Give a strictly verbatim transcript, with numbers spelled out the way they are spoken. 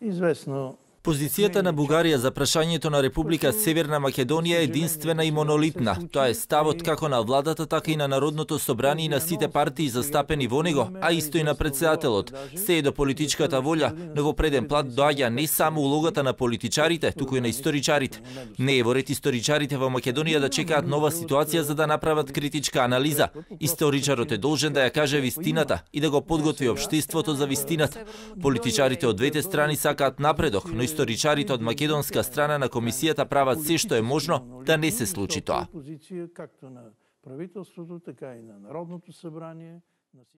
известно. Позицијата на Бугарија за прашањето на Република Северна Македонија е единствена и монолитна. Тоа е ставот како на владата, така и на Народното собрание и на сите партии застапени во него, а исто и на председателот. Се е до политичката волја, но во преден план доаѓа не само улогата на политичарите, туку и на историчарите. Не е во ред историчарите во Македонија да чекаат нова ситуација за да направат критичка анализа. Историчарот е должен да ја каже вистината и да го подготви општеството за вистината. Политичарите од двете страни сакаат напредок, но историчарите од македонска страна на комисијата прават се што е можно да не се случи тоа. Както на правителството, така и на Народното собрание.